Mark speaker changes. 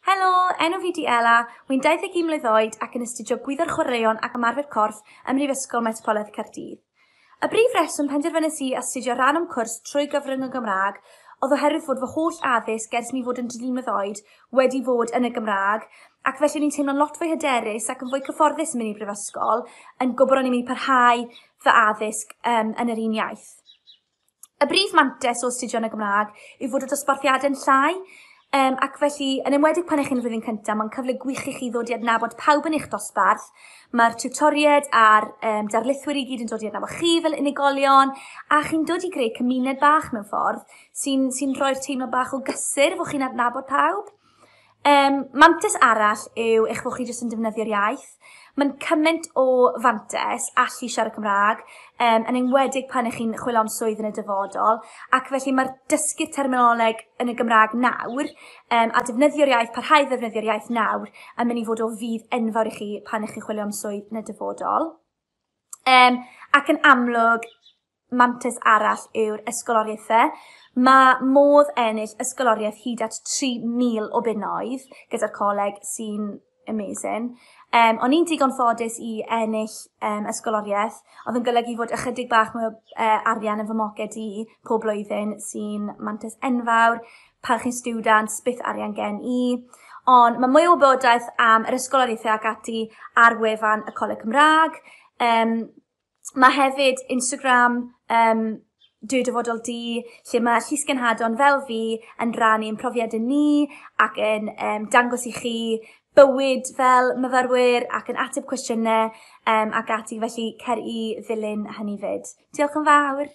Speaker 1: Helo, enw fi 'di Ela, wi'n 21 mlwydd oed ac yn astudio Gwyddor Chwaraeon ac Ymarfer Corff ym Mhrifysgol Metropolitan Caerdydd. Y brif reswm penderfynes i astudio rhan o'm cwrs trwy gyfrwng y Gymraeg oedd oherwydd fod fy holl addysg ers mi fod yn dri mlwydd oed wedi fod yn y Gymraeg, ac felly o'n i'n teimlo'n lot fwy hyderus ac yn fwy cyfforddus yn mynd i'r brifysgol, yn gwybod o'n i'n mynd i parhau fy addysg um, yn yr un iaith. Y brif mantais o astudio yn y Gymraeg yw fod y dosbarthiadau'n llai, um, ac felly, yn enwedig pan ych chi'n flwyddyn cyntaf, mae'n cyfle gwych i chi ddod i adnabod pawb yn eich dosbarth. Mae'r tiwtoriaid a'r um, darlithwyr i gyd yn dod i adnabod chi fel unigolion, a chi'n dod i greu cymuned bach mewn ffordd sy'n sy rhoi'r teimlo bach o gysur fod chi'n adnabod pawb. Mantais arall yw eich bod chi jyst yn defnyddio'r iaith. Mae'n cymaint o fantais allu siarad Cymraeg, um, yn enwedig pan ych chi'n chwilio am swydd yn y dyfodol, ac felly mae'r dysgu'r terminoleg yn y Gymraeg nawr, um, a defnyddio'r iaith, parhau ddefnyddio'r iaith nawr, yn mynd i fod o fudd enfawr i chi pan ych chi'n chwilio am swydd yn y dyfodol. Um, ac yn amlwg, mantais arall yw'r ysgoloriaethau. Mae modd ennill ysgoloriaeth hyd at 3,000 o bunnoedd gyda'r coleg sy'n amazing. Um, o'n i'n digon ffodus i ennill um, ysgoloriaeth, oedd yn golygu fod ychydig bach mwy o uh, arian yn fy moced i pob blwyddyn sy'n mantais enfawr. Pan chi'n student, byth arian gen i. Ond mae mwy o wybodaeth am yr ysgoloriaethau ac ati ar wefan y Coleg Cymraeg. Um, Mae hefyd Instagram, um, Dwi Dyfodol Di, lle mae llysgenhadon fel fi yn rannu ein profiadau ni ac yn um, dangos i chi bywyd fel myfyrwyr ac yn ateb cwestiynau um, ac ati, felly cer i ddilyn hynny fyd. Diolch yn fawr!